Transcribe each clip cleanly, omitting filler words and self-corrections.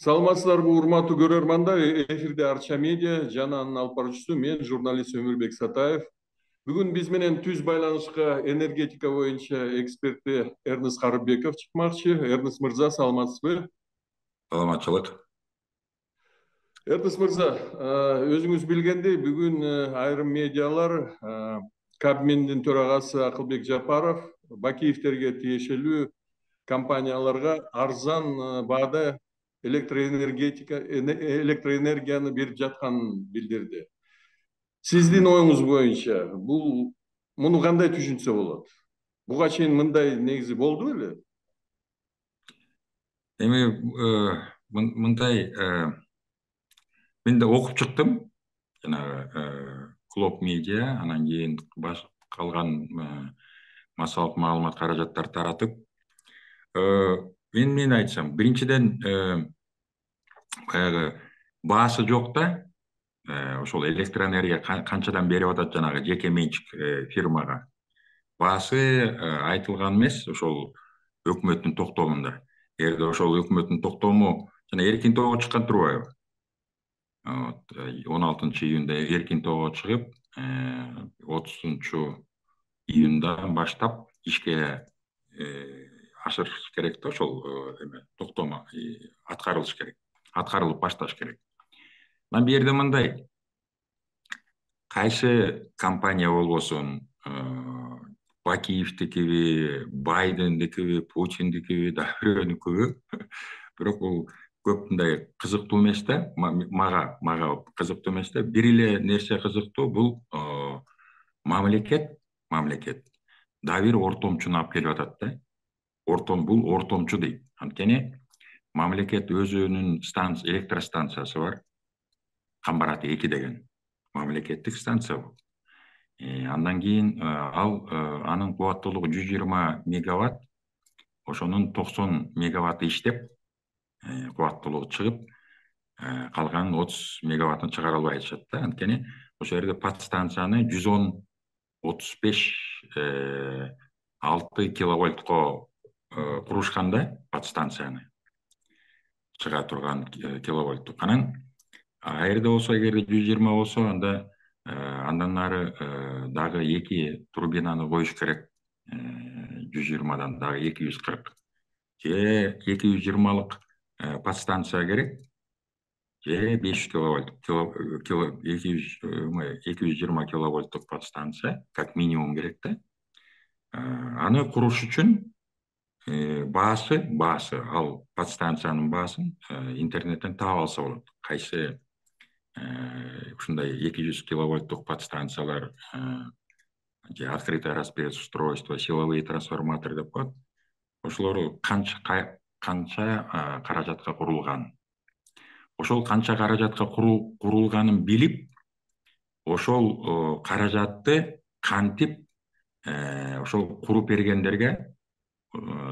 Саламатсыздарбы урматтуу көрөрмандар, эфирде Арча медиа жана анын алып баруучусу мен журналист Өмүрбек Сатаев. Бүгүн биз менен түз байланышка энергетика боюнча эксперти Эрнест Карыбеков чыкмакчы. Эрнест мырза, саламатсызбы? Саламатчылык. Эрнест мырза, өзүңүз билгендей, бүгүн айрым медиалар Кабминдин төрагасы Акылбек Жапаров Бакиевтерге тиешелүү компанияларга арзан баада электроэнергияны берип жатканын билдирди. Сиздин оюңуз боюнча муну кандай түшүнсө болот? Буга чейин мындай негизи болду беле? Эми мындай мен да окуп чыктым. Жанагы Клоп медиа, анан кийин калган массалык маалымат каражаттар таратып, мен айтсам, биринчиден баягы баасы жок да, ошол электроэнергия канчадан берип атат жанагы жеке менчик фирмага. Баасы айтылган эмес ошол өкмөттүн токтомунда. Эгерде ошол өкмөттүн токтому жана эркин тоого чыккан турбайбы? 16-июнда эркин тоого чыгып, 30-июндан баштап ишке ашырыш керек да, ошол токтому аткарылыш керек. Аткарылып башташ керек. Анан бу жерде мындай, кайсы компания болбосун, Бакиевдикиби, Байдендикиби, Путиндикиби, да бирөөнүкүбү, бирок бул көп мындай кызыктуу эмес да, мага кызыктуу эмес да. Бир эле нерсе кызыктуу, бул мамлекет да бир ортомчуну алып келип атат да. Бул ортомчу дейт. Анткени мамлекет өзүнүн электростанциясы бар. Камбарат 2 деген мамлекеттик станция бул. Андан кийин анын кубаттуулугу 120 мегаватт, ошонун 90 мегаватты иштеп, кубаттуулугу чыгып, калган 30 мегаваттын чыгара албай атышат да. Анткени ошол жерде подстанцияны 110-35-6 киловольтко курушканда, подстанцияны чыга турган киловольттук. Анан жерде болсо, эгерде 120 болсо, анда андан ары дагы 2 турбинаны коюш керек. 120дан дагы 240 же 220лык подстанция керек, же 500 киловольт 220 киловольттук подстанция как минимум керек да. Аны куруш үчүн баасы ал подстанциянын баасын интернеттен таап алса болот. Кайсы ушундай 200 киловольттук подстанциялар, же открытое распреустройство, силовые трансформаторы деп коет. Ошолор канча каражатка курулган. Ошол канча каражатка курулганын билип, ошол каражатты кантип ошол куруп бергендерге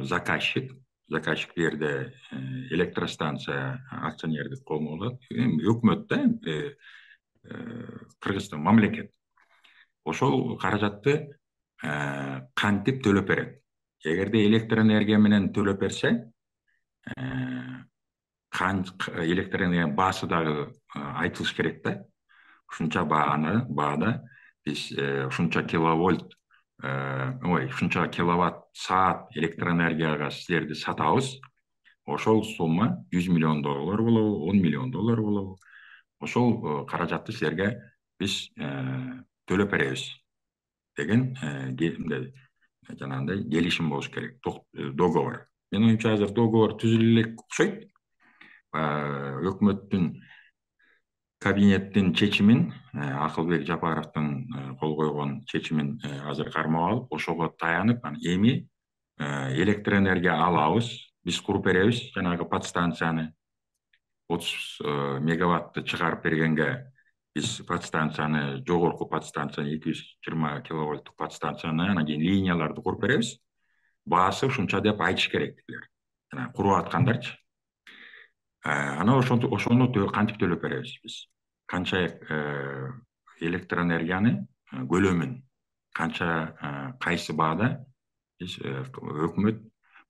заказчик бу жерде электростанция акционердик коому болот. Өкмөт да, Кыргызстан мамлекет. Ошол каражатты кантип төлөп берет. Эгерде электроэнергия менен төлөп берсе, электроэнергиянын баасы дагы айтылыш керек да. Ушунча баада биз ушунча ушунча киловатт саат электроэнергияга силерди сатабыз. Ошол сумма $100 миллион болобу, $10 миллион болобу. Ошол каражатты силерге биз төлөп беребиз деген жанагындай келишим болуш керек, договор. Менин оюмча азыр договор түзүлө элек окшойт. Өкмөттүн кабинеттин чечимин, Акылбек Жапаровдун кол койгон чечимин азыр кармап алып, ошого таянып, эми электроэнергия алабыз, биз куруп беребиз жанагы подстанцияны. 30 мегаватты чыгарып бергенге биз подстанцияны, жогорку подстанцияны, 220 киловольттук подстанцияны, анан кийин линияларды куруп беребиз. Баасы ушунча деп айтыш керек дилер. Жана куруп аткандарчы. Анан ошону кантип төлөп беребиз биз? Канча электроэнергияны көлөмүн, канча кайсы баада биз өкмөт,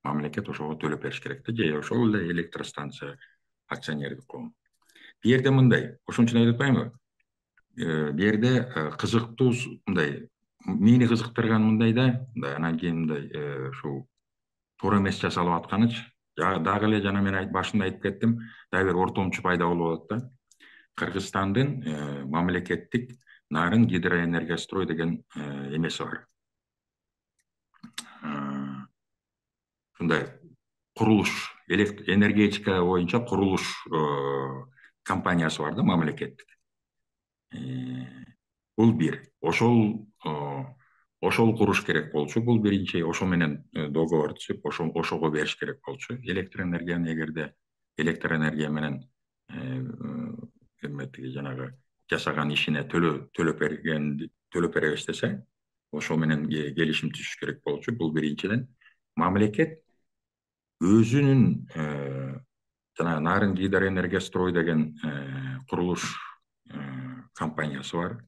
мамлекет ошого төлөп бериш керек да. Же ошол эле электростанция акционердик коом. Бу жерде мындай, ошон үчүн айтып атпаймынбы? Бу жерде кызыктуу мындай, мени кызыктырган мындай да, мындай анан кийин мындай ушул туура эмес жасалып атканычы, дагы эле жана мен башында айтып кеттим, дагы бир ортомчу пайда болуп атат да. Кыргызстандын мамлекеттик нарын гидроэнергострой деген эмеси бар. Ушундай курулуш, энергетика боюнча курулуш компаниясы бар да, мамлекеттик. Бул бир. Ошол куруш керек болчу. Бул биринчи, ошо менен договор түзүп, ошого бериш керек болчу. Электр энергияны эгерде электр энергия менен жанагы жасаган ишине төлөп беребиз десе, ошо менен келишим түзүш керек болчу. Бул биринчиден. Мамлекет өзүнүн жана Нарын гидроэнергострой деген курулуш компаниясы бар.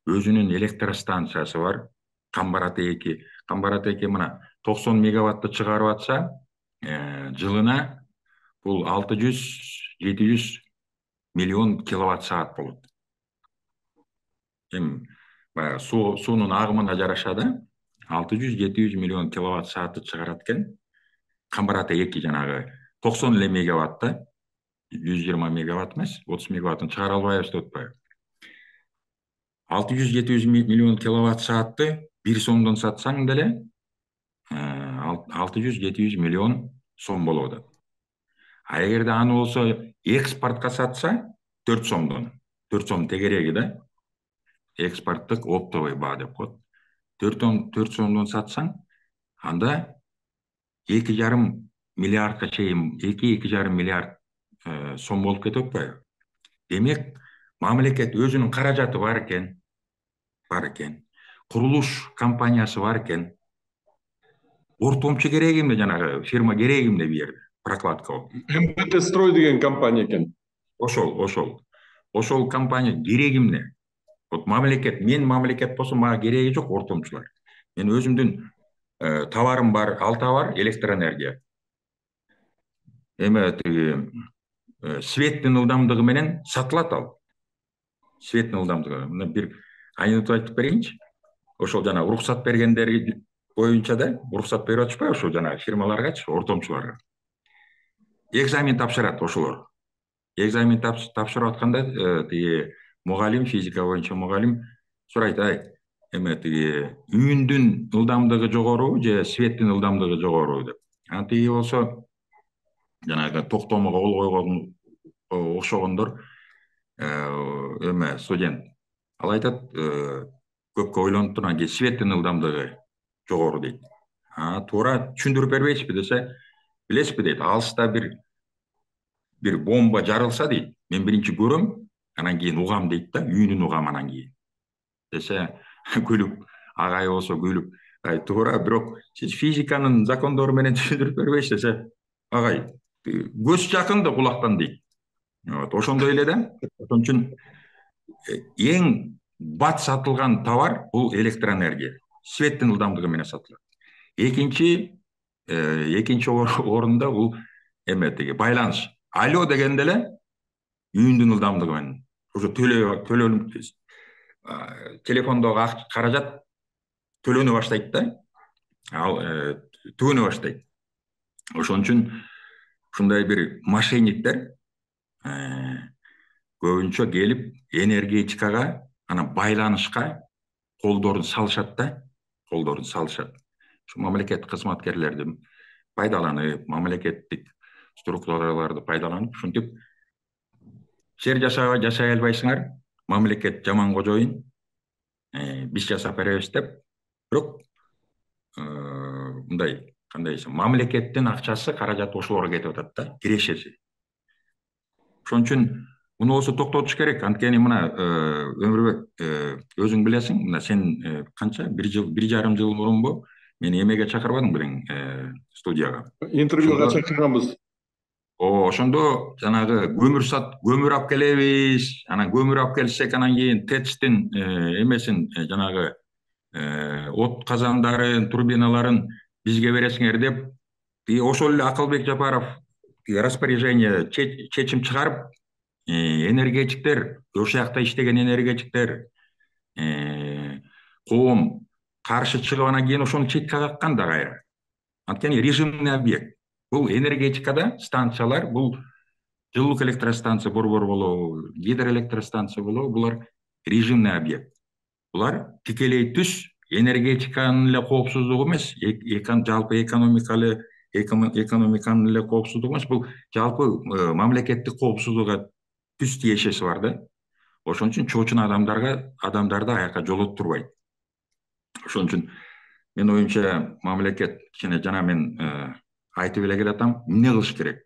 Өзүнүн электростанциясы бар. Камбараты 2. Камбараты 2 мына 90 мегаватты чыгарып атса, жылына бул 600-700 миллион киловатт саат болот. Эми баягы суунун агымына жараша да 600-700 миллион киловатт саатты чыгарат экен. Камбараты 2 жанагы 90 эле мегаватта, 120 мегаватт эмес, 30 мегаваттын чыгара албайбыз деп атпайбы? 600-700 миллион киловатт саатты 1 сомдон сатсаң деле 600-700 миллион сом болуп атат. А эгерде аны болсо экспортко сатса 4 сомдон. 4 сом тегереги да. Экспорттук оптовый баа деп коет. 4 сомдон сатсаң, анда 2,5 миллиардка чейин, 2,5 миллиард сом болуп кетип атпайбы? Демек, мамлекет өзүнүн каражаты бар экен. Курулуш компаниясы бар экен. Ортомчу керек эмне, жанагы фирма керек эмне бу жерде? Прокладка болуп. МБТ строй деген компания экен. Ошол компания керек эмне? Вот мен мамлекет болсо мага кереги жок ортомчулар. Мен өзүмдүн товарым бар, ал товар электр энергия. Эме светтин ылдамдыгы менен сатылат ал. Светтин ылдамдыгы. Мына бир айнытып айтып берейинчи. Ошол жана уруксат бергендер боюнча да, уруксат берип атышпайбы ошол жана фирмаларгачы, ортомчуларга. Экзамен тапшырат ошолор. Экзамен тапшырып атканда мугалим, физика боюнча мугалим сурайт, эме үйүндүн ылдамдыгы жогорубу же светтин ылдамдыгы жогорубу деп. Антиги болсо жанагы токтомого кол койгон окшогондор эме студент. Ал айтат, көпкө ойлонуп турган кийин светтин ылдамдыгы жогору дейт. Туура түшүндүрүп бербейсизби десе, билесизби дейт, алыста бир бомба жарылса дейт, мен биринчи көрөм, анан кийин угам дейт да, үйүнүн угам анан кийин. Десе, күлүп, агай болсо күлүп, туура, бирок сиз физиканын закондору менен түшүндүрүп бербейсиз десе, агай, көз жакында кулактан дейт. Ошондой эле да. Ошон үчүн эң бат сатылган товар бул электроэнергия. Светтин ылдамдыгы менен сатылат. Экинчи орунда бул эме байланыш. Алло дегенде эле үйүндүн ылдамдыгы менен. Ошо телефондогу каражат төлөнө баштайт да. Ал түгөнө баштайт. Ошон үчүн ушундай бир мошенниктер көбүнчө келип энергетикага, анан байланышка колдорун салышат да, Ушу мамлекет кызматкерлерди пайдаланып, мамлекеттик структураларды пайдаланып, ушинтип жер жашай албайсыңар, мамлекет жаман кожоюн, биз жасап беребиз деп. Бирок мындай, кандай десем, мамлекеттин акчасы, каражаты ошолорго кетип атат да, кирешеси. Ошон үчүн муну болсо токтотуш керек. Анткени мына Өмүрбек, өзүң билесиң, мына сен канча 1,5 жыл мурунбу мени эмеге чакырбадың белең, студияга. Интервьюга чакырганбыз. Ошондо жанагы көмүр алып келебиз, анан көмүр алып келсек, анан кийин ТЭЦтин эмесин, жанагы от казандарын, турбиналарын бизге бересиңер деп, ошол эле Акылбек Жапаров распоряжение чечим чыгарып, энергетиктер, ошол жакта иштеген энергетиктер коом каршы чыгып анан кийин ошону четке каккан да кайра. Анткени режимный объект. Бул энергетикада станциялар, бул жылуулук электростанция борбор болобу, гидроэлектростанция болобу, булар режимный объект. Булар тикелей түз энергетиканын эле коопсуздугу эмес, жалпы экономиканын эле коопсуздугу эмес, бул жалпы мамлекеттик коопсуздукка түз тиешеси бар да. Ошон үчүн чоочун адамдарды аяка жолоттурбайт. Ошон үчүн мен оюмча мамлекет кичине жана мен айтып эле келатам, эмне кылыш керек?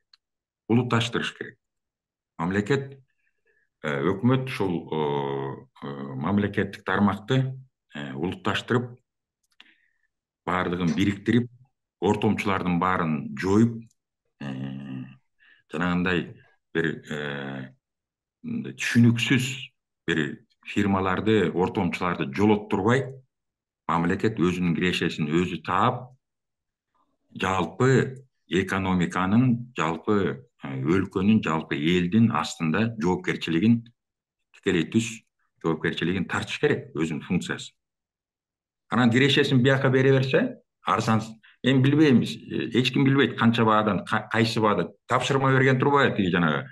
Улутташтырыш керек. Мамлекет, өкмөт ушул мамлекеттик тармакты улутташтырып, баардыгын бириктирип, ортомчулардын баарын жоюп, жанагындай бир түшүнүксүз бир фирмаларды, ортомчуларды жолоттурбай, мамлекет өзүнүн кирешесин өзү таап, жалпы экономиканын, жалпы өлкөнүн, жалпы элдин астында жоопкерчилигин, тикелей түз жоопкерчилигин тартыш керек, өзүнүн функциясын. Анан кирешесин бияка бере берсе, арзан, мен билбейм, эч ким билбейт канча баадан, кайсы баада тапшырма берген турбайбы тиги жанагы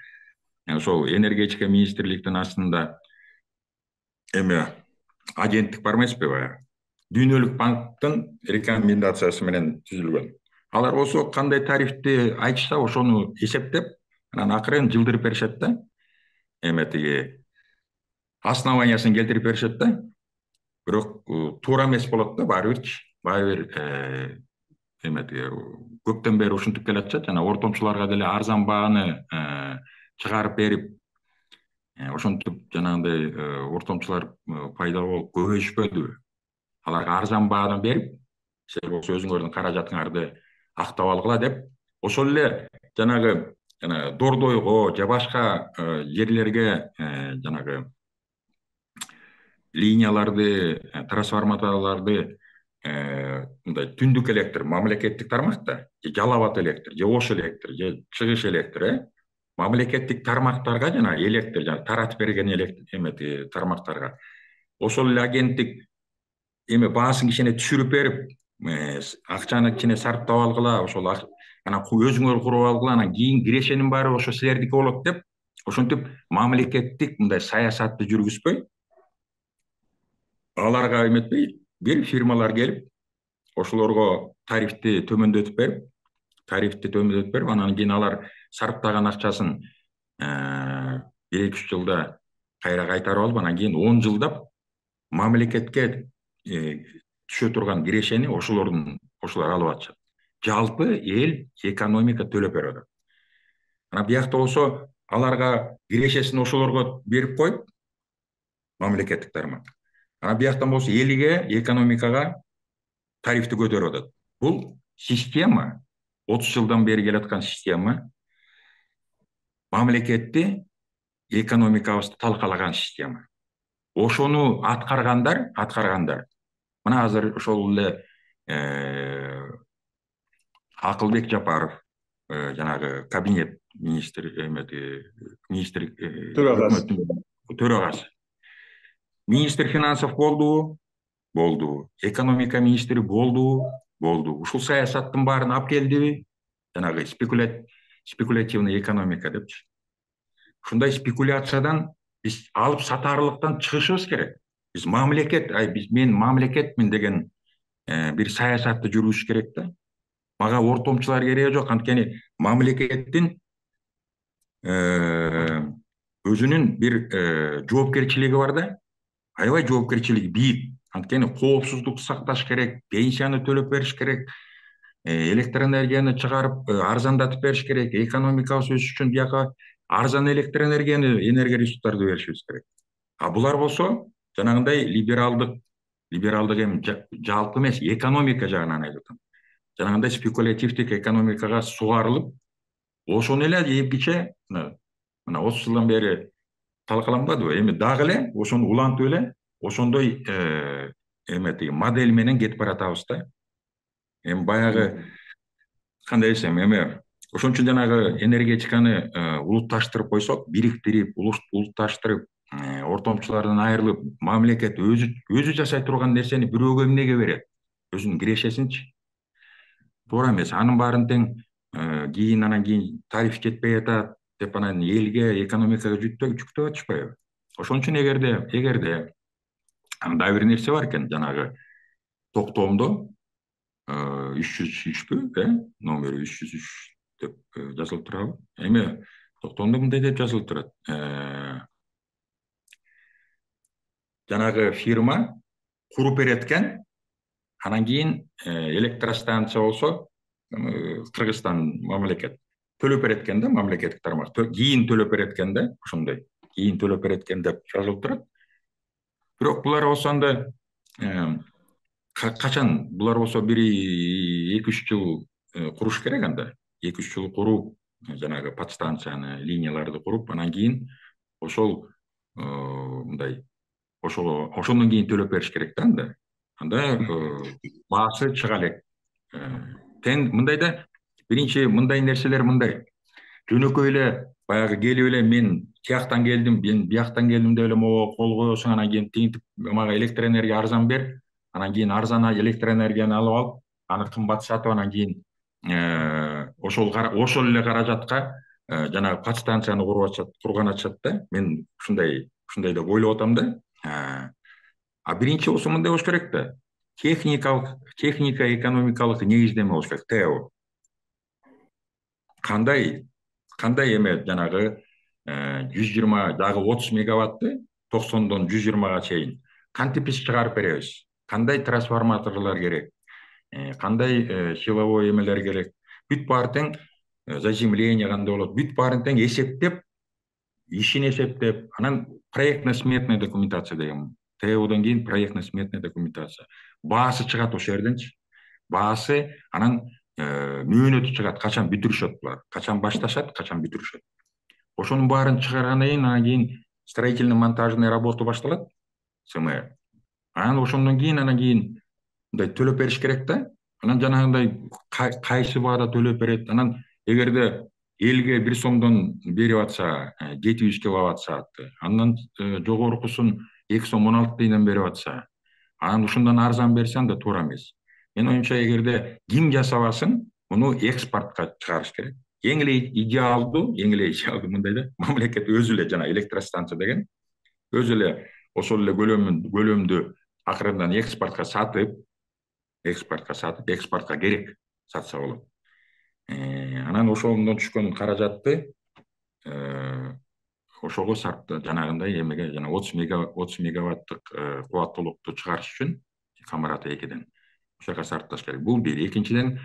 ошол энергетика министрликтин астында агенттик бар эмеспи баягы? Дүйнөлүк банктын рекомендациясы менен түзүлгөн. Алар болсо кандай тарифти айтышса, ошону эсептеп, анан акырын жылдырып беришет да. Тиги основаниясын келтирип беришет да. Бирок туура эмес болот да, баары бир көптөн бери ушинтип келатышат, жана ортомчуларга деле арзан бааны чыгарып берип, ошентип жанагындай ортомчулар пайда болуп көбөйүшпөдүбү? Аларга арзан бааны берип, силер болсо өзүңөрдүн каражатыңарды актап алгыла деп, ошол эле жанагы Дордойго же башка жерлерге жанагы линияларды, трансформаторлорду мындай түндүк электр, мамлекеттик тармакта, же Жалал Абад электр, же Ош электр, же Чыгыш электр, мамлекеттик тармактарга жана электр, таратып берген электр тармактарга ошол эле агенттик баасын кичине түшүрүп берип, акчаны кичине сарптап алгыла, ошол анан өзүңөр куруп алгыла, анан кийин кирешенин баары ошо силердики болот деп, ошентип мамлекеттик мындай саясатты жүргүзбөй, аларга эметпей, бир фирмалар келип, ошолорго тарифти төмөндөтүп берип, анан кийин алар сарптаган акчасын 1-2 жылда кайра кайтарып алып, анан кийин 10 жылдап мамлекетке түшө турган кирешени ошолор алып атышат. Жалпы эл экономика төлөп берип атат. Анан биякта болсо аларга кирешесин ошолорго берип коюп, мамлекеттик тармак. Анан бияктан болсо элге, экономикага тарифти көтөрүп атат. Бул система 30 жылдан бери келаткан система, мамлекетти, экономикабызды талкалаган система. Ошону аткаргандар, мына азыр ошол эле Акылбек Жапаров, жанагы кабинет төрагасы. Министр финансов болду. Экономика министри болду. Ушул саясаттын баарын алып келдиби? Жанагы спекулятивный экономика депчи. Ушундай спекуляциядан биз алып сатарлыктан чыгышыбыз керек. Мен мамлекетмин деген бир саясатты жүргүзүш керек да. Мага ортомчулар кереги жок, анткени мамлекеттин өзүнүн бир жоопкерчилиги бар да. Аябай жоопкерчилиги бийик. Анткени коопсуздукту сакташ керек, пенсияны төлөп бериш керек, электр энергияны чыгарып арзандатып бериш керек, экономикабыз өсүш үчүн бияка арзан электр энергия ресурстарды беришибиз керек. А булар болсо жанагындай либералдык жалпы эмес, экономика жагынан айтып атам. Жанагындай спекулятивдик экономикага сугарылып, ошону эле эпиче мына 30 жылдан бери талкаланбадыбы? Эми дагы эле ошону улантып эле ошондой модель менен кетип баратабыз да. Эми баягы кандай десем, Ошон үчүн жанагы энергетиканы улутташтырып койсок, бириктирип, улутташтырып, ортомчулардан айрылып, мамлекет өзү жашай турган нерсени бирөөгө эмнеге берет? Өзүнүн кирешесинчи. Туура эмес. Анын баарын тең анан кийин тариф жетпей атат деп анан элге, экономикага жүктөп атышпайбы? Ошон үчүн эгерде дагы бир нерсе бар экен, жанагы токтомдо 303 номери 303 деп жазылып турабы? Эми токтомдо мындай деп жазылып турат. Жанагы фирма куруп берет экен, анан кийин электростанция болсо Кыргызстан мамлекет төлөп берет экен да, мамлекеттик тармак кийин төлөп берет экен да, ошондой кийин төлөп берет экен деп жазылып турат. Бирок булар болсо анда качан булар болсо 1-2-3 жыл куруш керек анда. 2-3 жыл куруп, жанагы подстанцияны, линияларды куруп, анан кийин ошол мындай ошондон кийин төлөп бериш керек да анда. Анда баасы чыга элек. Тең мындай да, биринчи мындай нерселер мындай. Жөнөкөй эле баягы келип эле мен тияктан келдим, мен бияктан келдим деп эле могу кол коесуң, анан кийин тинтип мага электр энергия арзан бер, анан кийин арзан электр энергияны алып алып, аны кымбат сатып, анан кийин ошол эле каражатка жанагы подстанцияны курган атышат да. Мен ушундай деп ойлоп атам да. Биринчи болсо мындай болуш керек да. Техника экономикалык негиздеме болуш керек, ТЭО. Кандай эме жанагы 120 дагы 30 мегаватты 90дон 120га чейин кантип биз чыгарып беребиз? Кандай трансформаторлор керек? Кандай силовой эмелер керек? Бүт баары тең заземление кандай болот? Бүт баарын тең эсептеп, ишин эсептеп, анан проектно-сметная документация деген. ТЭОдон кийин проектно-сметная документация. Баасы чыгат ошол жерденчи. Баасы анан мөөнөтү чыгат, качан бүтүрүшөт булар, качан башташат, качан бүтүрүшөт. Ошонун баарын чыгаргандан кийин анан кийин строительно-монтажный работа башталат, СМР. Анан ошондон кийин мындай төлөп бериш керек да. Анан жанагындай кайсы баада төлөп берет? Анан эгерде элге 1 сомдон берип атса 700 киловатт саатты, андан жогорукусун 2 сом 16 тыйындан берип атса, анан ушундан арзан берсе анда туура эмес. Мен оюмча эгерде ким жасабасын, муну экспортко чыгарыш керек. Эң эле идеалдуу мындай да, мамлекет өзү эле жана электростанция деген өзү эле ошол эле көлөмдү акырындан экспортко сатып, экспортко керек сатса болот. Анан ошондон түшкөн каражатты ошого жанагындай эмеге, жана 30 мегаваттык кубаттуулукту чыгарыш үчүн Камарата 2ден ошого сарпташ керек. Бул бир. Экинчиден,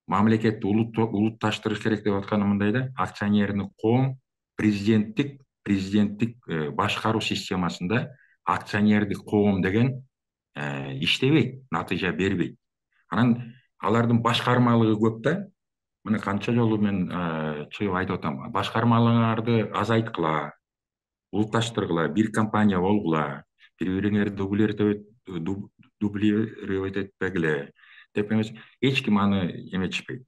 мамлекетти улутташтырыш керек деп атканым мындай да, акционердик коом президенттик башкаруу системасында акционердик коом деген иштебейт, натыйжа бербейт. Анан алардын башкармалыгы көп да. Мына канча жолу мен чыгып айтып атам, башкармаларды азайткыла, улутташтыргыла, бир компания болгула, бири-бириңерди дублировать этпегиле деп эмес, эч ким аны эметишпейт.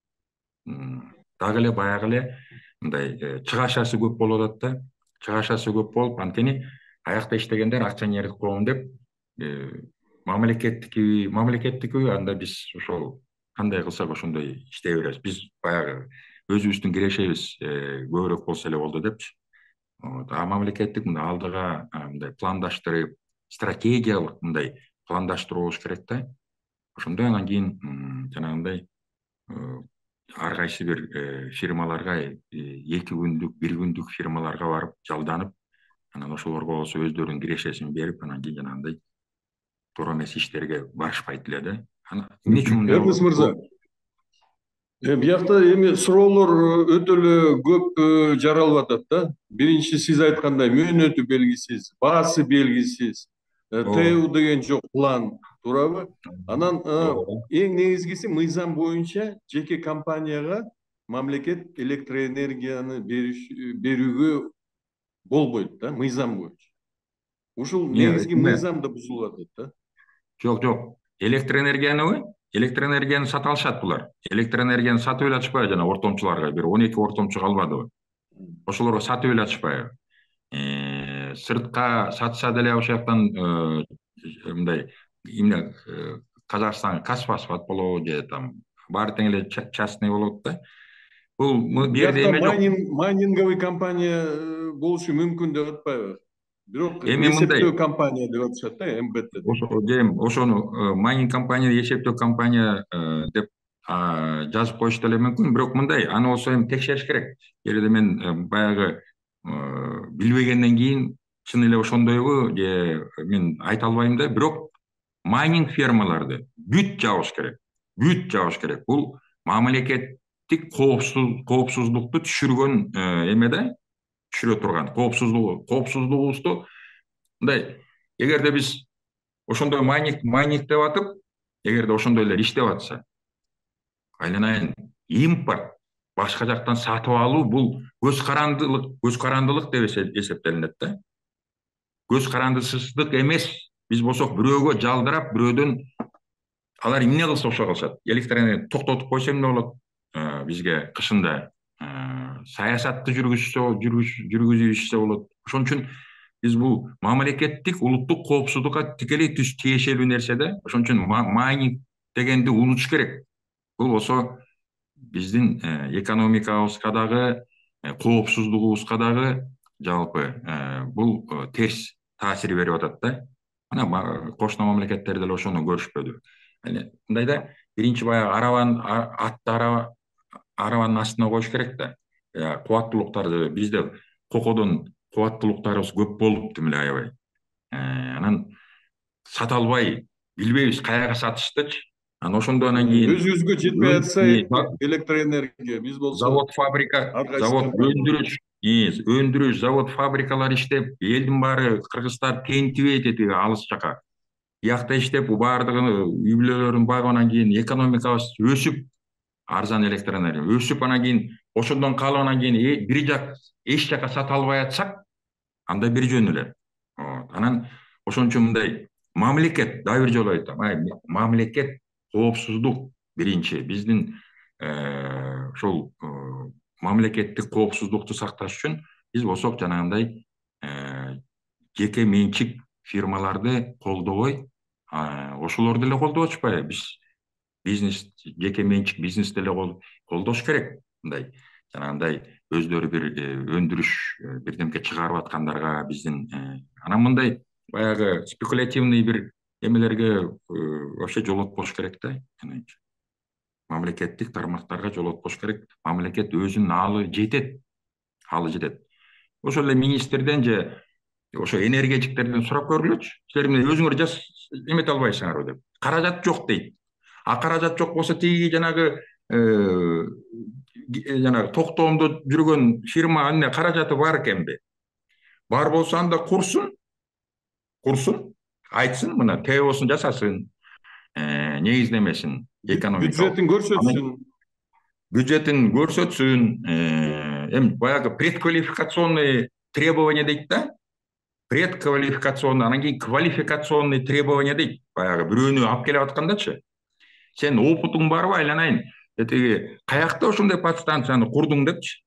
Дагы эле баягы эле мындай чыгашасы көп болуп атат да. Чыгашасы көп болуп, анткени аякта иштегендер акционердик коом деп мамлекеттики анда биз ошол кандай кылсак ошондой иштей беребиз. Биз баягы өзүбүздүн кирешебиз көбүрөөк болсо эле болду депчи. Мамлекеттик мындай алдыга мындай пландаштырып, стратегиялык мындай пландаштыруу болуш керек да. Ошондой анан кийин жанагындай ар кайсы бир фирмаларга 2 күндүк, 1 күндүк фирмаларга барып жалданып, анан ошолорго болсо өздөрүнүн кирешесин берип, анан кийин жанагындай туура эмес иштерге барышпайт эле да. Эмне үчүн мындай? Эрнис мырза, биякта эми суроолор өтө эле көп жаралып атат да. Биринчи сиз айткандай мөөнөтү белгисиз, баасы белгисиз, ТЭУ деген жок, план, туурабы? Анан эң негизгиси мыйзам боюнча жеке компанияга мамлекет электроэнергияны берүүгө болбойт да, мыйзам боюнча. Ушул негизги мыйзам да бузулуп атат да. Жок. Электроэнергияныбы? электр энергияны сата алышат булар. Электр энергияны сатып эле атышпайбы жана ортомчуларга бир 12 ортомчу калбадыбы. Ошолорго сатып эле атышпайбы. Сыртка сатса деле ошол жактан мындай эмне Казакстан Казфосфат болобу же там баары тең эле частный болот да. Бул бул жерде Биякта эме жок. майнинговый компания болушу мүмкүн деп атпайбы? Бирок Эми мындай эсептөө компания деп атышат да, МБТ деп. ошону майнинг компания, эсептөө компания деп жазып коюш деле мүмкүн. Бирок мындай, аны болсо эми текшериш керек. Эгерде мен баягы билбегенден кийин чын эле ошондойбу же мен айта албайм да. Бирок майнинг фермаларды бүт жабыш керек. Бүт жабыш керек. Бул мамлекеттик коопсуздукту түшүргөн эме да, түшүрө турган коопсуздугубузду мындай. Эгерде биз ошондой майнинг деп атып, эгерде ошондой эле иштеп атса, айланайын импорт, башка жактан сатып алуу бул көз карандылык деп эсептелинет да. Көз карандысыздык эмес. Биз болсок бирөөгө жалдырап, бирөөдөн алар эмне кылса ошо кылышат. Электр токтотуп койсо эмне болот? Бизге кышында саясатты жүргүзүп ишсе болот. Ошон үчүн биз бул мамлекеттик улуттук коопсуздукка тикелей тиешелүү нерсе да. Ошон үчүн майнинг дегенди унутуш керек. Бул болсо биздин экономикабызга дагы, коопсуздугубузга дагы жалпы бул терс таасир берип атат да. Мына кошуна мамлекеттер деле ошону көрүшпөдү. Мындай да, биринчи баягы арабанын астына коюш керек да. Кубаттуулуктарды бизде кокодон кубаттуулуктарыбыз көп болупту эле аябай. Анан сата албай, билбейбиз каяга сатыштычы. Анан ошондон кийин өзүбүзгө жетпей атса электр энергия, биз болсо завод, өндүрүш, завод, фабрикалар иштеп, элдин баары кыргыздар тентибейт этиги алыс жака. Биякта иштеп, баардыгы үй бүлөлөрүн багып, анан кийин экономикабыз өсүп, арзан электр энергия өсүп, анан кийин ошондон калып, анан кийин бир жак эч жака сата албай атсак, анда бир жөн эле. Анан ошон үчүн мындай мамлекет, дагы бир жолу айтам, мамлекет коопсуздук биринчи биздин ошол мамлекеттик коопсуздукту сакташ үчүн биз болсок жанагындай жеке менчик фирмаларды колдобой, ошолорду деле колдоп атышпайбы. Биз бизнес, жеке менчик бизнес деле колдош керек. Мындай жанагындай өздөрү бир өндүрүш бирдемке чыгарып аткандарга биздин анан мындай баягы спекулятивный бир эмелерге вообще жолотпош керек да. Мамлекеттик тармактарга жолотпош керек. Мамлекет өзүнүн алы жетет. Ошол эле министрден же ошо энергетиктерден сурап көргүлөчү. Силер эмне өзүңөр эмете албайсыңарбы деп. Каражат жок дейт. Каражат жок болсо тиги жанагы токтоомдо жүргөн фирма эмне каражаты бар экенби? Бар болсо анда курсун, айтсын, мына ТОсун жасасын, негиздемесин, экономикалык бюджетин көрсөтсүн, эми баягы предквалификационный требования дейт да. Предквалификационный, анан кийин квалификационный требования дейт. Баягы бирөөнү алып келип аткандачы. Сен опытуң барбы, айланайын? Этиги каякта ошондой подстанцияны курдуң депчи.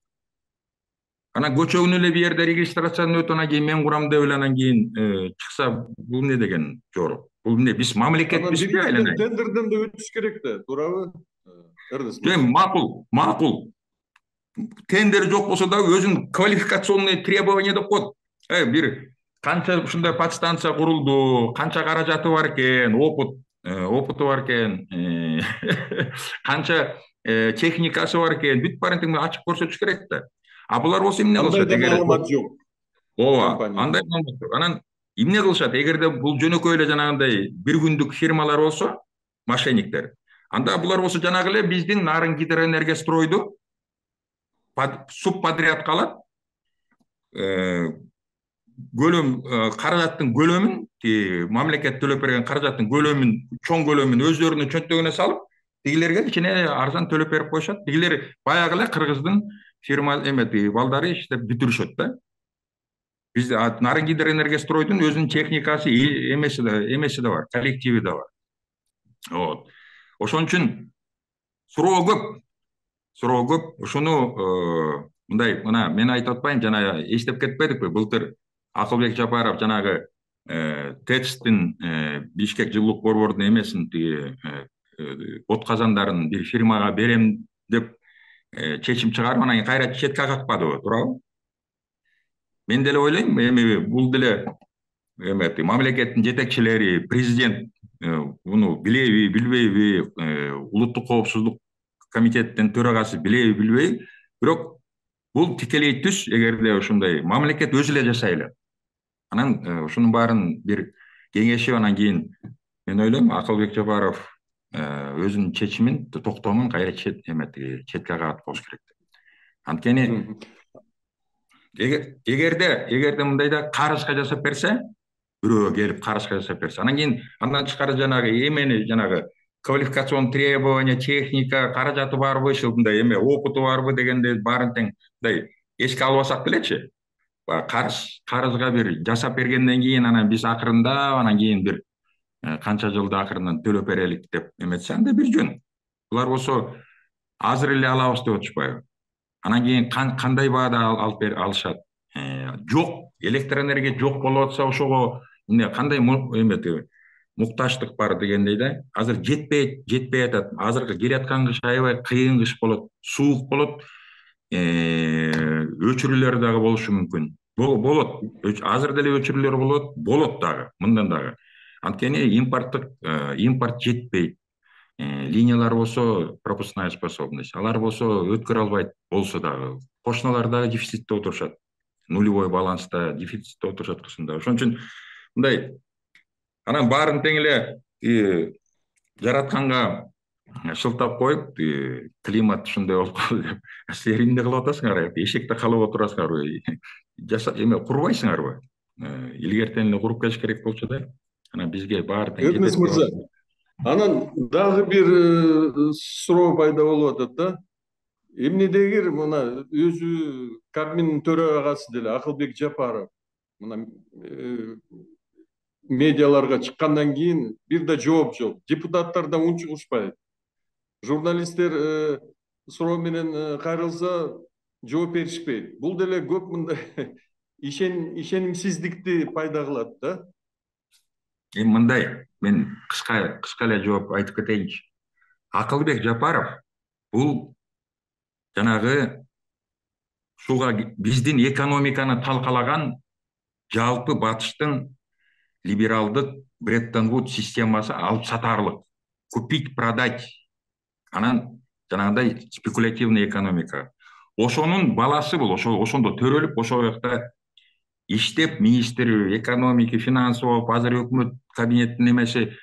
Анан көчөгүн эле бир жерде регистрациядан өтүп, анан кийин мен курам деп эле анан кийин чыкса, бул эмне деген жору? Бул эмне, биз мамлекетпизби, айланайын? Тендерден да өтүш керек да, туурабы? Макул. Тендер жок болсо дагы өзүнүн квалификационный требования деп коет. Бир канча ушундай подстанция курулду, канча каражаты бар экен, опыту бар экен, канча техникасы бар экен, бүт баарын тең ачып көрсөтүш керек да. Булар болсо эмне кылышат? Андай маалымат жок. Андай маалымат жок. Анан эмне кылышат? Эгерде бул жөнөкөй эле жанагындай бир күндүк фирмалар болсо, мошенниктер, анда булар болсо жанагы эле биздин Нарын гидроэнергостройду субподрядка алат. Каражаттын көлөмүн, мамлекет төлөп берген каражаттын көлөмүн, чоң көлөмүн өздөрүнүн чөнтөгүнө салып, тигилерге кичине арзан төлөп берип коюшат. Тигилер баягы эле кыргыздын фирма балдары иштеп бүтүрүшөт да. Бизде Нарын гидроэнергостройдун өзүнүн техникасы, эмеси да бар, коллективи да бар. Ошон үчүн суроо көп. Ошону мындай, мына мен айтып атпайм, жана эстеп кетпедикпи былтыр Акылбек Жапаров жанагы ТЭЦтин Бишкек жылуулук борбордун эмесин тиги отказандарын бир фирмага берем деп чечим чыгарып, анан кайра четке какпадыбы, туурабы? Мен деле ойлойм, эми бул деле мамлекеттин жетекчилери, президент буну билеби, билбейби, улуттук коопсуздук комитеттин төрагасы билеби, билбейби, бирок бул тикелей түз. Эгерде ушундай мамлекет өзү эле жашай эле, анан ушунун баарын бир кеңешип, анан кийин мен ойлойм Акылбек Жапаров өзүнүн чечимин, токтомун кайра четке кагат болуш керек деп. Анткени эгерде мындайда карызга жасап берсе, бирөө келип карызга жасап берсе, анан кийин андан тышкары жанагы эмени, жанагы квалификационный требования, техника, каражаты барбы, мындай эме опыту барбы дегенде баарын тең мындай эске албасак делечи, карызга бир жасап бергенден кийин анан биз акырындап, анан кийин бир канча жылда акырынан төлөп берелик деп эметсе, анда бир жөн. Булар болсо азыр эле алабыз деп атышпайбы? Анан кийин кандай баада алышат? Жок, электр энергия жок болуп атса, ошого эмне кандай муктаждык бар дегендей да. Азыр жетпей атат. Азыркы келаткан кыш аябай кыйын кыш болот, суук болот, өчүрүүлөр дагы болушу мүмкүн. Болот. Азыр деле өчүрүүлөр болот дагы, мындан дагы. Анткени импорт жетпейт. Линиялар болсо пропускная способность, алар болсо өткөрө албайт болсо дагы. Кошуналар дагы дефицитте отурушат. Нулевой баланста, дефицитте отурушат кышында. Ошон үчүн мындай анан баарын тең эле жаратканга шылтап коюп, климат ушундай болуп калды деп силер эмне кылып атасыңар? Эшекте калып отурасыңарбы? Эме курбайсыңарбы? Илгертен эле куруп келиш керек болчу да. Анан бизге баары тең Эрнест мырза, анан дагы бир суроо пайда болуп атат да. Эмнедегир мына өзү Кабминдин төрагасы деле Акылбек Жапаров мына медиаларга чыккандан кийин бир да жооп жок. Депутаттар да унчугушпайт. Журналисттер суроо менен кайрылса жооп беришпейт. Бул деле көп мындай ишенимсиздикти пайда кылат да. Мындай, мен кыска эле жооп айтып кетейинчи. Акылбек Жапаров бул жанагы ушуга биздин экономиканы талкалаган жалпы батыштын либералдык Бреттон Вуд системасы, алып сатарлык, купить, продать, анан жанагындай спекулятивный экономика. Ошонун баласы бул, ошондо төрөлүп, ошол жакта иштеп, министр экономики, финансы болуп, азыр өкмөт кабинеттин эмеси.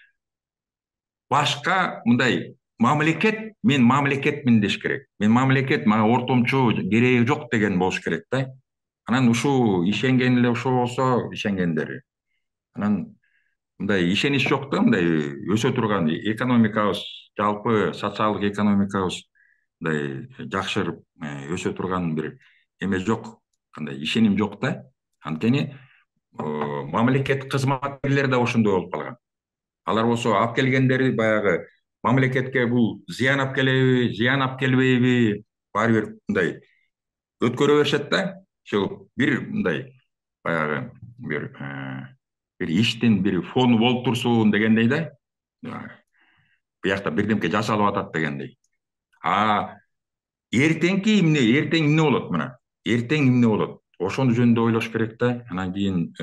Башка мындай мен мамлекетмин деш керек. Мен мамлекет, мага ортомчу кереги жок деген болуш керек да. Анан ушул ишенген эле ошо болсо, ишенгендери. Анан мындай ишенич жок да, мындай өсө турган экономикабыз, жалпы социалдык экономикабыз мындай жакшырып өсө турган бир эме жок, кандай ишеним жок да. Анткени мамлекет кызматкерлери да ошондой болуп калган. Алар болсо алып келгендери баягы мамлекетке бул зыян алып келеби, зыян алып келбейби, баары бир мындай өткөрө беришет да. Ошол бир мындай баягы бир иштин бир фону болуп турсун дегендей да. Биякта бирдемке жасалып атат дегендей. Эртең эмне болот мына? Эртең эмне болот? Ошону жөнүндө ойлош керек да. Анан кийин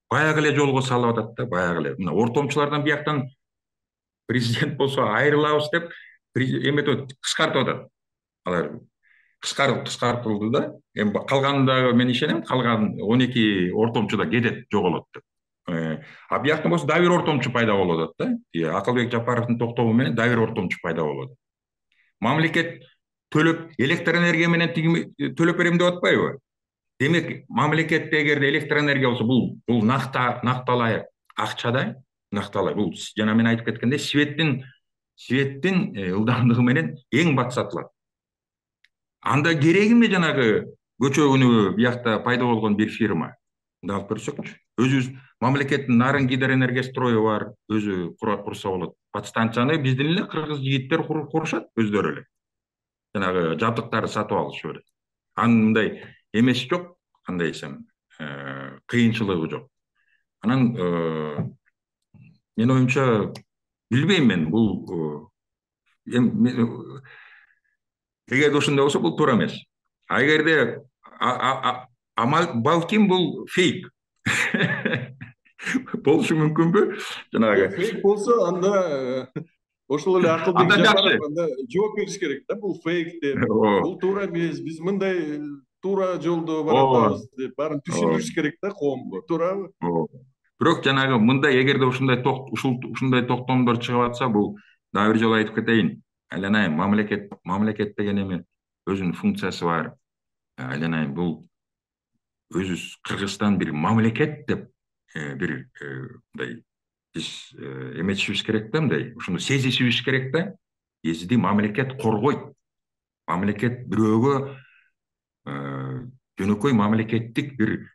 баягы эле жолго салып атат да, баягы эле. Мына ортомчулардан бияктан президент болсо айрылабыз деп эметип кыскартып атат. Алар кыскартылды да. Эми калганында мен ишенем, калган 12 ортомчу да кетет, жоголот деп. Бияктан болсо дагы бир ортомчу пайда болуп атат да. Акылбек Жапаровдун токтому менен дагы бир ортомчу пайда болуп атат. Мамлекет төлөп, электр энергия менен төлөп берем деп атпайбы? Демек, мамлекетте эгерде электр энергия болсо, бул накталай акча да, накталай. Бул жана мен айтып кеткендей, светтин ылдамдыгы менен эң бат сатылат. Анда кереги эмне жанагы көчө күнү биякта пайда болгон бир фирма? Мында алып көрсөкчү. Өзүбүз мамлекеттин Нарын Гидроэнергострою бар, өзү курса болот. подстанцияны биздин эле кыргыз жигиттер курушат өздөрү эле. Жанагы жабдыктарды сатып алышып эле. Анын мындай эмеси жок, кандай десем, кыйынчылыгы жок. Анан менин оюмча билбейм мен бул эгерде ошондой болсо бул туура эмес. А эгерде балким бул фейк болушу мүмкүнбү? Жанагы Фейк болсо анда ошол эле Акылбек анда жакшы. Жапаров анда жооп бериш керек да, бул фейк деп. Бул туура эмес, биз мындай туура жолдо баратабыз деп баарын түшүндүрүш керек да коомго, туурабы? Бирок жанагы мындай эгерде ушундай токтомдор чыгып атса, бул дагы бир жолу айтып кетейин. Айланайын, мамлекет деген эми өзүнүн функциясы бар. Айланайын, бул өзүбүз Кыргызстан бир мамлекет деп бир мындай биз эметишибиз керек да, мындай ушуну сезишибиз керек да. Бизди мамлекет коргойт. Мамлекет бирөөгө жөнөкөй мамлекеттик бир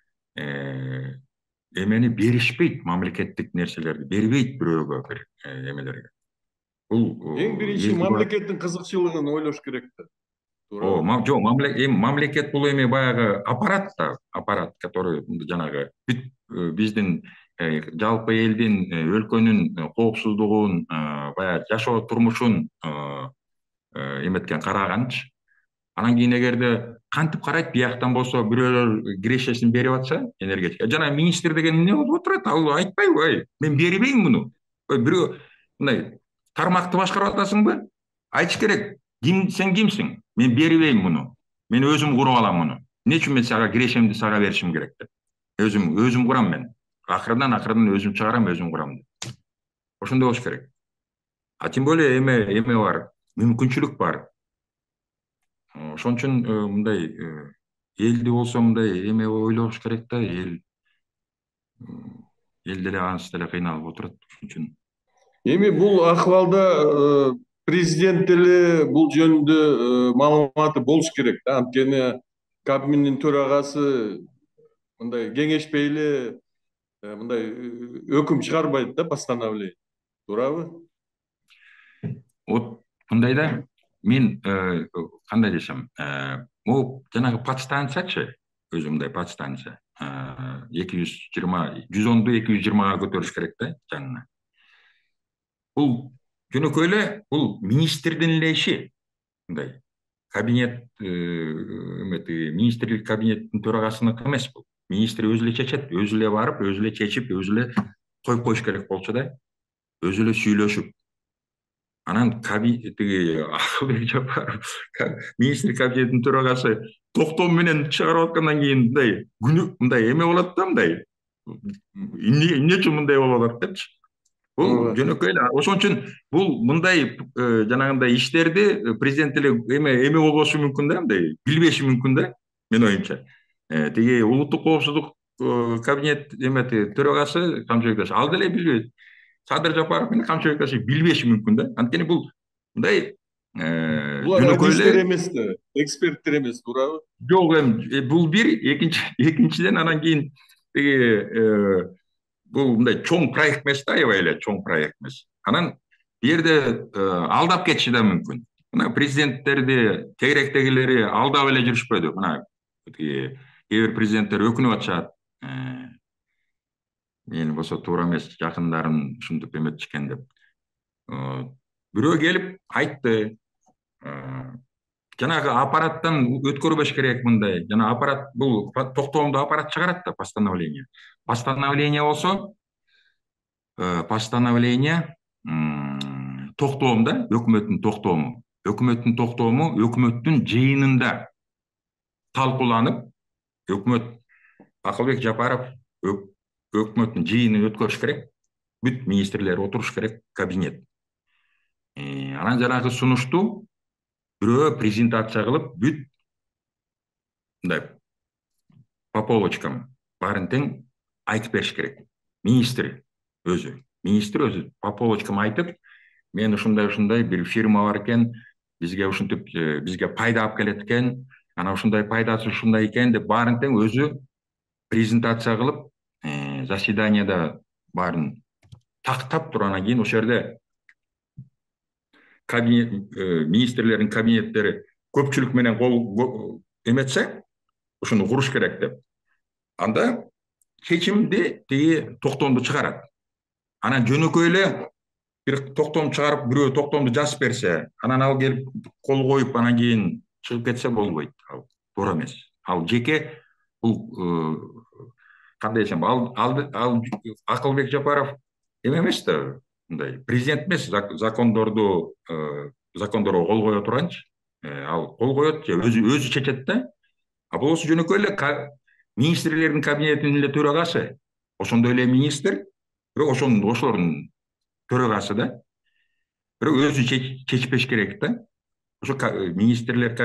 эмени беришпейт, мамлекеттик нерселерди бербейт бирөөгө, бир эмелерге. Бул Эң биринчи мамлекеттин кызыкчылыгын ойлош керек да. Жок, мамлекет бул эми баягы аппарат да, аппарат, который жанагы биздин жалпы элдин, өлкөнүн коопсуздугун, баягы жашоо турмушун эметкен, караганчы. Анан кийин эгерде кантип карайт, бияктан болсо бирөөлөр кирешесин берип атса, энергетика. Жана министр деген эмне болуп отурат? Ал айтпайбы, мен бербейм муну. Бирөө мындай тармакты башкарып атасыңбы? Айтыш керек. Сен кимсиң? Мен бербейм муну. Мен өзүм куруп алам муну. Эмне үчүн мен сага кирешемди сага беришим керек деп. Өзүм курам мен. Акырдан өзүм чыгарам, өзүм курам деп. Ошондой болуш керек. А тем более эме бар, мүмкүнчүлүк бар. Ошон үчүн мындай элди болсо мындай эме ойлош керек да, эл деле ансыз деле кыйналып отурат. Ошон үчүн Эми бул акыбалда президент деле бул жөнүндө маалыматы болуш керек да, анткени Кабминдин төрагасы мындай кеңешпей эле мындай өкүм чыгарбайт да, постановление. Туурабы? Вот мындай да, мен кандай десем, могу жанагы подстанциячы, өзү мындай подстанция 220, 110ду 220га көтөрүш керек да жанына. Бул жөнөкөй эле бул министрдин эле иши. Мындай кабинет министрлик кабинеттин төрагасыныкы эмес бул. Министр өзү эле чечет, өзү эле барып, өзү эле чечип, өзү эле коюп коюш керек болчу да. Өзү эле сүйлөшүп. Анан тиги Акылбек Жапаров министр кабинетинин төрагасы токтом менен чыгарып аткандан кийин мындай мындай эме болот да, мындай эмне үчүн мындай болуп атат депчи. Бул жөнөкөй эле. Ошон үчүн бул мындай жанагындай иштерди президент эле эме болбошу мүмкүн да, мындай билбеши мүмкүн да, менин оюмча. Тиги улуттук коопсуздук кабинет төрагасы Камчыбек ал деле билбейт. Садыр Жапаров менен Камчыбек билбеши мүмкүн да. Анткени бул мындай булар адистер эмес да, эксперттер эмес, туурабы? Жок, бул бир, экинчиден анан кийин тиги бул мындай чоң проект эмес да, аябай эле чоң проект эмес. Анан бу жерде алдап кетиши да мүмкүн. Мына президенттерди тегеректегилери алдап эле жүрүшпөдү. Мына кээ бир президенттер өкүнүп атышат. Мен болсо туура эмес, жакындарын ушинтип эметишкен деп. Бирөө келип айтты. Жанагы аппараттан өткөрбөш керек мындай. Жана аппарат бул токтомду аппарат чыгарат да, постановление. Постановление болсо, постановление токтом да, өкмөттүн токтому. Өкмөттүн токтому өкмөттүн жыйынында талкууланып, өкмөт Акылбек Жапаров өкмөттүн жыйынын өткөрүш керек. Бүт министрлер отуруш керек, кабинет. Анан жанагы сунушту бирөө презентация кылып, бүт мындай по полочкам баарын тең айтып бериш керек. Министр өзү по полочкам айтып, мен ушундай бир фирма бар экен, бизге ушинтип бизге пайда алып келет экен, анан ушундай пайдасы ушундай экен деп баарын тең өзү презентация кылып, заседанияда баарын тактап туруп, анан кийин ошол жерде министрлердин кабинеттери көпчүлүк менен кол эметсе, ошону куруш керек деп. Анда чечимди тиги токтомду чыгарат. Анан жөнөкөй эле бир токтом чыгарып, бирөө токтомду жазып берсе, анан ал келип кол коюп, анан кийин чыгып кетсе болбойт. Ал туура эмес. Ал жеке бул кандай десем, ал Акылбек Жапаров эме эмес да, мындай президент эмес, закондорго кол кое турганчы. Ал кол коет же өзү чечет да. А болсо жөнөкөй эле министрлердин кабинетинин эле төрагасы, ошондой эле министр, бирок ошолордун төрагасы да. Бирок өзү чечпеш керек да. Ошо министрлер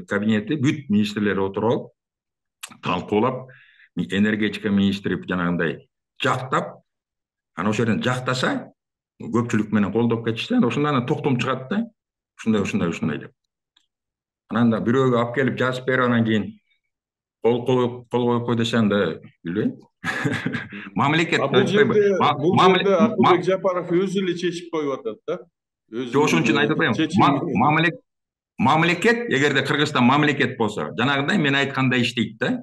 кабинети бүт министрлер отуруп алып, талкуулап, энергетика министри жанагындай жактап, анан ошол жерден жактаса, көпчүлүк менен колдоп кетишсе, ошондон токтом чыгат да. Ушундай деп. Анан да бирөөгө алып келип жазып берип, анан кийин кол коюп кой десе, анда билбейм. Мамлекет бул жерде Акылбек Жапаров өзү эле чечип коюп атат да. Ошон үчүн айтып атпаймынбы? Мамлекет, эгерде Кыргызстан мамлекет болсо, жанагындай мен айткандай иштейт да.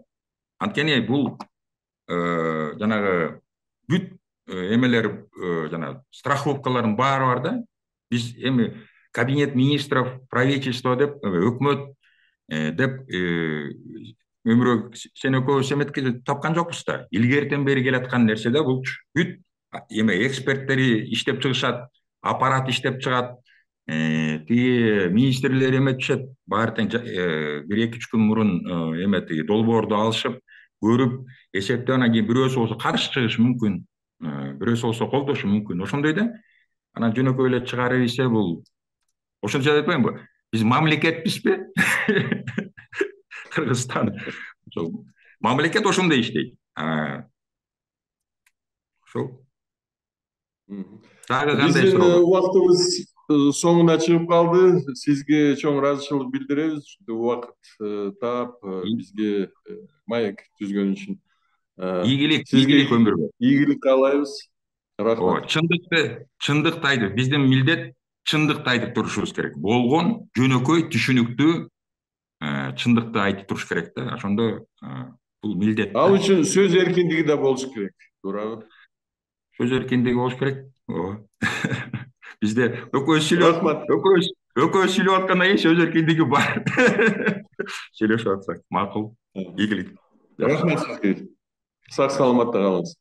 Анткени бул жанагы бүт эмелер, жанагы страховкалардын баары бар да. Биз эми кабинет министров, правительство деп, өкмөт деп өмүрө сен экөөбүз эметкизип тапкан жокпуз да. Илгертен бери келаткан нерсе да бул. Бүт эме эксперттери иштеп чыгышат, аппарат иштеп чыгат, тиги министрлер эметишет, баары тең 1-2 күн мурун эмети долбоорду алышып, көрүп, эсептеп, анан кийин бирөөсү болсо каршы чыгышы мүмкүн, бирөөсү болсо колдошу мүмкүн. Ошондой да. Анан жөнөкөй эле чыгарып ийсе, бул ошончо айтпаймынбы? Биз мамлекетпизби? Кыргызстан. Мамлекет ошондой иштейт. Ошол. Дагы кандай суроо? Убактыбыз соңуна чыгып калды. Сизге чоң ыраазычылык билдиребиз. Убакыт таап бизге маек түзгөн үчүн. Ийгилик өмүргө. Ийгилик каалайбыз. Рахмат. Чындыкты айтып, биздин милдет чындыкты айтып турушубуз керек. Болгон, жөнөкөй, түшүнүктүү чындыкты айтып туруш керек да. Ошондо бул милдет. Ал үчүн сөз эркиндиги да болуш керек. Туурабы? Сөз эркиндиги болуш керек. Бизде экөөбүз сүйлөп аткандан кийин сөз эркиндиги бар. Сүйлөшүп атсак макул. Ийгилик. Рахмат сизге. Сак саламатта калыңыз.